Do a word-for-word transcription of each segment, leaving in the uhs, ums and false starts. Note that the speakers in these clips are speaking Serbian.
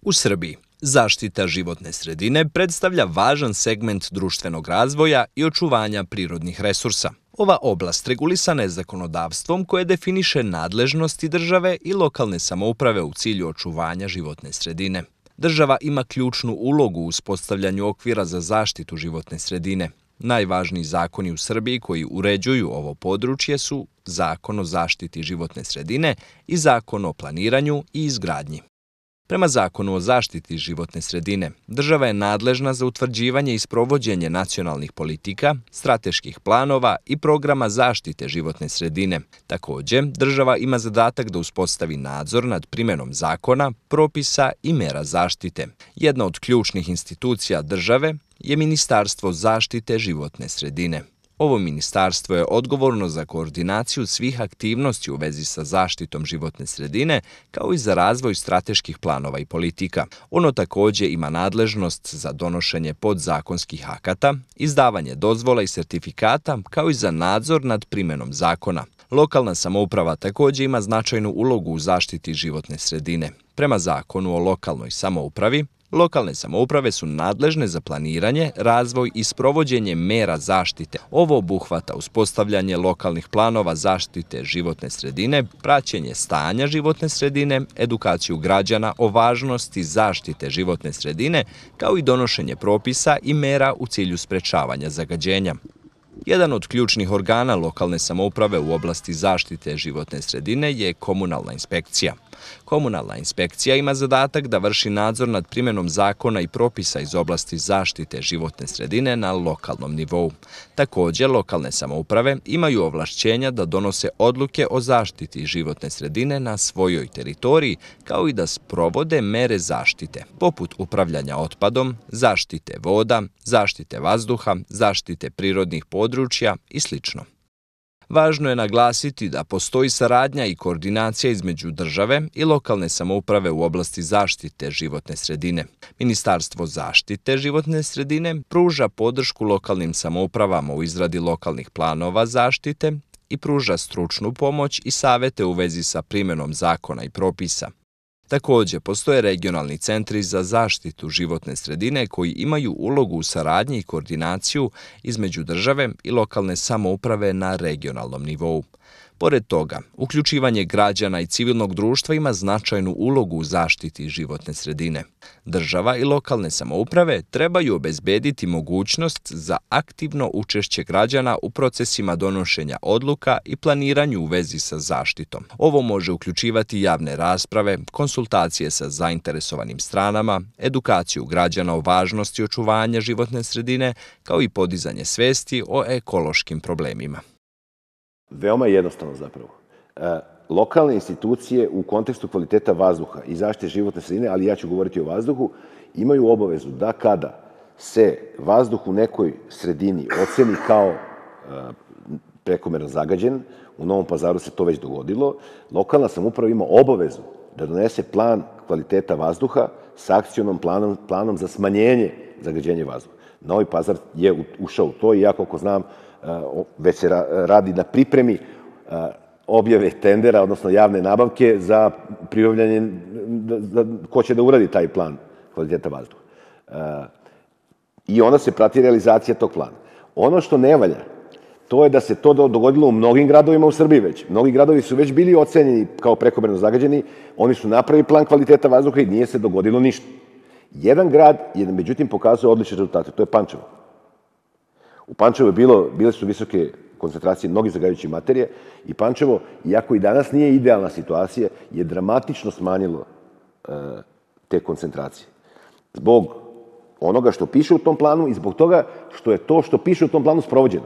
U Srbiji, zaštita životne sredine predstavlja važan segment društvenog razvoja i očuvanja prirodnih resursa. Ova oblast regulisana je zakonodavstvom koje definiše nadležnosti države i lokalne samouprave u cilju očuvanja životne sredine. Država ima ključnu ulogu u uspostavljanju okvira za zaštitu životne sredine. Najvažniji zakoni u Srbiji koji uređuju ovo područje su Zakon o zaštiti životne sredine i Zakon o planiranju i izgradnji. Prema Zakonu o zaštiti životne sredine, država je nadležna za utvrđivanje i sprovođenje nacionalnih politika, strateških planova i programa zaštite životne sredine. Takođe, država ima zadatak da uspostavi nadzor nad primenom zakona, propisa i mera zaštite. Jedna od ključnih institucija države je Ministarstvo zaštite životne sredine. Ovo ministarstvo je odgovorno za koordinaciju svih aktivnosti u vezi sa zaštitom životne sredine, kao i za razvoj strateških planova i politika. Ono takođe ima nadležnost za donošenje podzakonskih akata, izdavanje dozvola i sertifikata, kao i za nadzor nad primenom zakona. Lokalna samouprava takođe ima značajnu ulogu u zaštiti životne sredine. Prema Zakonu o lokalnoj samoupravi, lokalne samouprave su nadležne za planiranje, razvoj i sprovođenje mera zaštite. Ovo obuhvata uspostavljanje lokalnih planova zaštite životne sredine, praćenje stanja životne sredine, edukaciju građana o važnosti zaštite životne sredine, kao i donošenje propisa i mera u cilju sprečavanja zagađenja. Jedan od ključnih organa lokalne samouprave u oblasti zaštite životne sredine je komunalna inspekcija. Komunalna inspekcija ima zadatak da vrši nadzor nad primenom zakona i propisa iz oblasti zaštite životne sredine na lokalnom nivou. Takođe, lokalne samouprave imaju ovlašćenja da donose odluke o zaštiti životne sredine na svojoj teritoriji, kao i da sprovode mere zaštite, poput upravljanja otpadom, zaštite voda, zaštite vazduha, zaštite prirodnih područja i slično. Važno je naglasiti da postoji saradnja i koordinacija između države i lokalne samouprave u oblasti zaštite životne sredine. Ministarstvo zaštite životne sredine pruža podršku lokalnim samoupravama u izradi lokalnih planova zaštite i pruža stručnu pomoć i savete u vezi sa primenom zakona i propisa. Takođe, postoje regionalni centri za zaštitu životne sredine koji imaju ulogu u saradnji i koordinaciju između države i lokalne samouprave na regionalnom nivou. Pored toga, uključivanje građana i civilnog društva ima značajnu ulogu u zaštiti životne sredine. Država i lokalne samouprave trebaju obezbediti mogućnost za aktivno učešće građana u procesima donošenja odluka i planiranju u vezi sa zaštitom. Ovo može uključivati javne rasprave, konsultacije sa zainteresovanim stranama, edukaciju građana o važnosti očuvanja životne sredine, kao i podizanje svesti o ekološkim problemima. Veoma je jednostavno zapravo. E, lokalne institucije u kontekstu kvaliteta vazduha i zaštite životne sredine, ali ja ću govoriti o vazduhu, imaju obavezu da kada se vazduh u nekoj sredini oceni kao e, prekomerno zagađen, u Novom Pazaru se to već dogodilo, lokalna samouprava ima obavezu da donese plan kvaliteta vazduha sa akcionom planom, planom za smanjenje zagađenja vazduha. Novi Pazar je ušao u to i ja, koliko znam, već se radi na pripremi objave tendera, odnosno javne nabavke za pribavljanje, ko će da uradi taj plan kvaliteta vazduha. I onda se prati realizacija tog plana. Ono što ne valja, to je da se to dogodilo u mnogim gradovima u Srbiji već. Mnogi gradovi su već bili ocenjeni kao prekomerno zagađeni, oni su napravili plan kvaliteta vazduha i nije se dogodilo ništa. Jedan grad je, međutim, pokazao odlične rezultate, to je Pančevo. U Pančevu je bilo, bile su visoke koncentracije mnogih zagađujućih materija i Pančevo, iako i danas nije idealna situacija, je dramatično smanjilo e, te koncentracije. Zbog onoga što piše u tom planu i zbog toga što je to što piše u tom planu sprovođeno.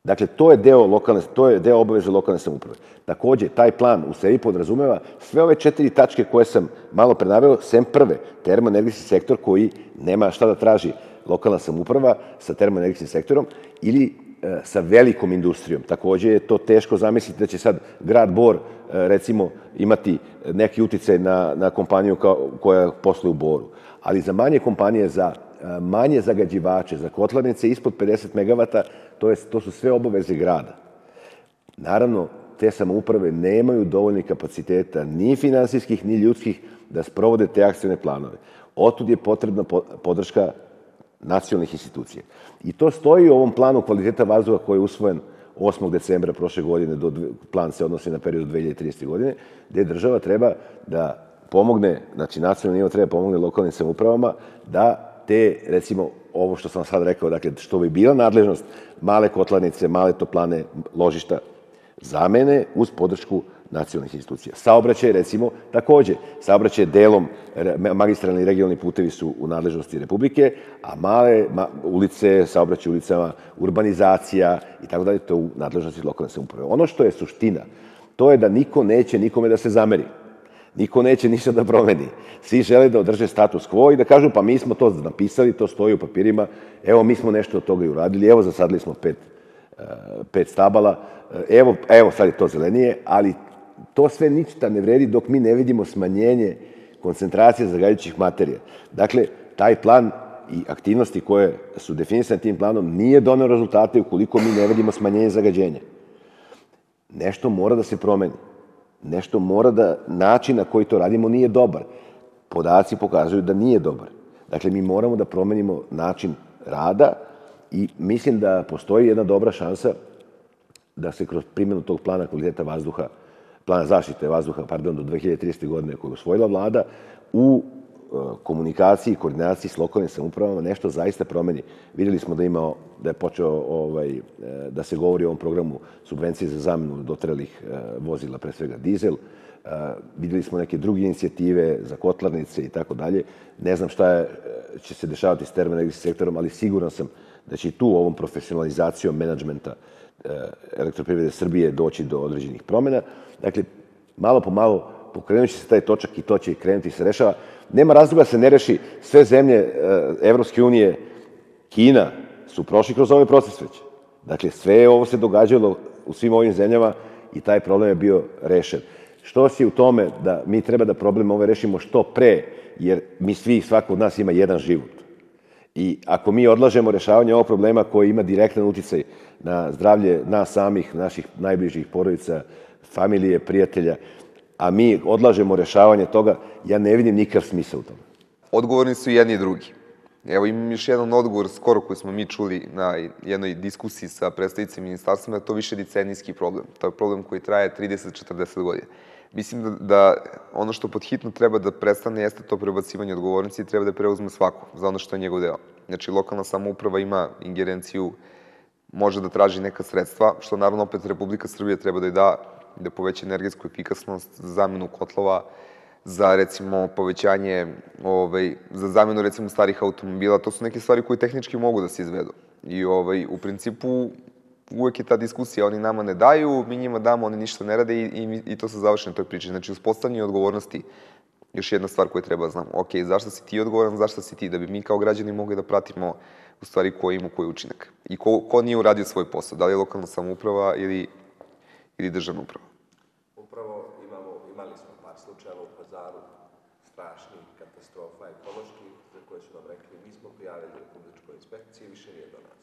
Dakle, to je deo lokalne, to je deo obaveze lokalne samouprave. Takođe, taj plan u sebi podrazumeva sve ove četiri tačke koje sam malo pre naveo, sem prve, termoenergetski sektor koji nema šta da traži lokalna samouprava sa termoenergetskim sektorom ili e, sa velikom industrijom. Takođe je to teško zamisliti da će sad grad Bor, e, recimo, imati neki uticaj na, na kompaniju kao, koja posluje u Boru. Ali za manje kompanije, za e, manje zagađivače, za kotlarnice ispod pedeset megavata, to, je, to su sve obaveze grada. Naravno, te samouprave nemaju dovoljnih kapaciteta, ni finansijskih, ni ljudskih, da sprovode te akcione planove. Otud je potrebna podrška nacionalnih institucija. I to stoji u ovom planu kvaliteta vazduha koji je usvojen osmog decembra prošle godine, plan se odnosi na period dve hiljade tridesete godine, gde država treba da pomogne, znači nacionalni nivo treba pomogne lokalnim samoupravama da te, recimo, ovo što sam sad rekao, dakle, što bi bila nadležnost male kotlarnice, male toplane, ložišta, zamene uz podršku nacionalnih institucija. Saobraćaj, recimo, takođe. Saobraćaj delom, magistralni i regionalni putevi su u nadležnosti Republike, a male ulice, saobraćaj ulicama, urbanizacija i tako dalje, to je u nadležnosti lokalne samouprave. Ono što je suština, to je da niko neće nikome da se zameri. Niko neće ništa da promeni. Svi žele da održe status quo i da kažu pa mi smo to napisali, to stoji u papirima, evo mi smo nešto od toga i uradili, evo zasadili smo pet, pet stabala, evo, evo sad je to zelenije, ali to sve ništa ne vredi dok mi ne vidimo smanjenje koncentracije zagađujućih materija. Dakle, taj plan i aktivnosti koje su definisane tim planom nije doneo rezultate ukoliko mi ne vidimo smanjenje zagađenja. Nešto mora da se promeni. Nešto mora da, način na koji to radimo nije dobar. Podaci pokazuju da nije dobar. Dakle, mi moramo da promenimo način rada i mislim da postoji jedna dobra šansa da se kroz primjenu tog plana kvaliteta vazduha, plana zaštite vazduha, pardon, do dve hiljade tridesete godine koju je usvojila vlada, u komunikaciji i koordinaciji s lokalnim samoupravama nešto zaista promeni. Videli smo da ima, da je počeo ovaj, da se govori o ovom programu subvencije za zamenu dotrelih vozila, pre svega dizel. Videli smo neke druge inicijative za kotlarnice i tako dalje. Ne znam šta je, će se dešavati s termoenergetskim sektorom, ali siguran sam da će i tu ovom profesionalizacijom menadžmenta Elektroprivrede Srbije doći do određenih promjena. Dakle, malo po malo pokrenut će se taj točak i to će krenuti i se rešava. Nema razloga da se ne reši. Sve zemlje Evropske unije, Kina, su prošli kroz ovaj proces već. Dakle, sve ovo se događalo u svim ovim zemljama i taj problem je bio rešen. Što si u tome da mi treba da problem ove rešimo što pre, jer mi svi, svako od nas ima jedan život. I ako mi odlažemo rešavanje ovog problema koji ima direktan uticaj na zdravlje nas samih, naših najbližih porodica, familije, prijatelja, a mi odlažemo rešavanje toga, ja ne vidim nikakav smisao u tome. Odgovorni su jedni i drugi. Evo imam još jedan odgovor skoro koji smo mi čuli na jednoj diskusiji sa predstavnicima ministarstvima, da je to više decenijski problem. To je problem koji traje trideset do četrdeset godina. Mislim da, da ono što pod hitno treba da prestane jeste to prebacivanje odgovornosti i treba da preuzme svako za ono što je njegov deo. Znači, lokalna samouprava ima ingerenciju, može da traži neka sredstva, što naravno opet Republika Srbija treba da je da, da poveća energetsku efikasnost, za zamenu kotlova, za recimo povećanje, ovaj, za zamenu recimo starih automobila. To su neke stvari koje tehnički mogu da se izvedu. I ovaj, u principu uvek je ta diskusija, oni nama ne daju, mi njima damo, oni ništa ne rade i, i, i to se završi na toj priči. Znači, uspostavljanje odgovornosti, još jedna stvar koju treba da znamo. Ok, zašto si ti odgovoran, zašto si ti? Da bi mi kao građani mogli da pratimo u stvari ko ima koji učinak. I ko, ko nije uradio svoj posao, da li je lokalna samouprava ili, ili državna uprava. Upravo imamo, imali smo par slučajeva u Pazaru, strašnih katastrofa ekoloških, za koje su nam rekli, mi smo prijavili Republičkoj inspekciji, više nije do nas.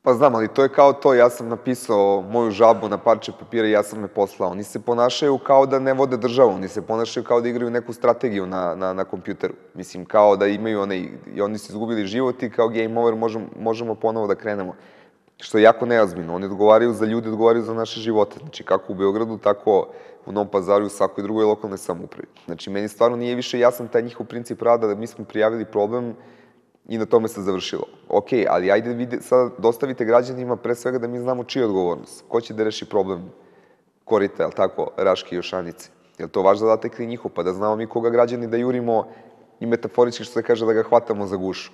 Pa znam, ali to je kao to, ja sam napisao moju žalbu na parče papira i ja sam me poslao. Oni se ponašaju kao da ne vode državu, oni se ponašaju kao da igraju neku strategiju na, na, na kompjuteru. Mislim, kao da imaju one, i oni su izgubili život i kao game over možemo, možemo ponovo da krenemo. Što je jako neozbiljno. Oni odgovaraju za ljude, odgovaraju za naše živote. Znači, kako u Beogradu, tako u Novom Pazaru i u svakoj drugoj lokalnoj samoupravi. Znači, meni stvarno nije više jasan taj njihov princip rada da mi smo prijavili problem i na tome se završilo. Ok, ali ajde vide, sad dostavite građanima pre svega da mi znamo čija je odgovornost. Ko će da reši problem korita, jel tako, Raške i Jošanice? Je li to vaš zadatak ili njihov? Pa da znamo mi koga građani da jurimo i metaforički što se kaže da ga hvatamo za gušu.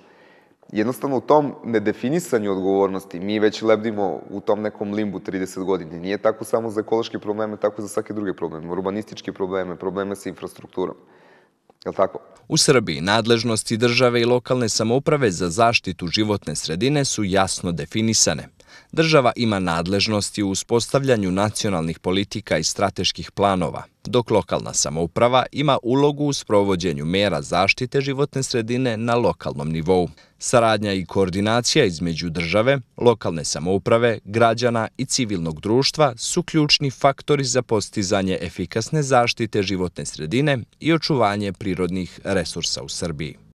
Jednostavno u tom nedefinisanju odgovornosti mi već lebdimo u tom nekom limbu trideset godina. Nije tako samo za ekološke probleme, tako za svake druge probleme. Urbanističke probleme, probleme sa infrastrukturom. Je li tako? U Srbiji nadležnosti države i lokalne samouprave za zaštitu životne sredine su jasno definisane. Država ima nadležnosti u uspostavljanju nacionalnih politika i strateških planova, dok lokalna samouprava ima ulogu u sprovođenju mera zaštite životne sredine na lokalnom nivou. Saradnja i koordinacija između države, lokalne samouprave, građana i civilnog društva su ključni faktori za postizanje efikasne zaštite životne sredine i očuvanje prirodnih resursa u Srbiji.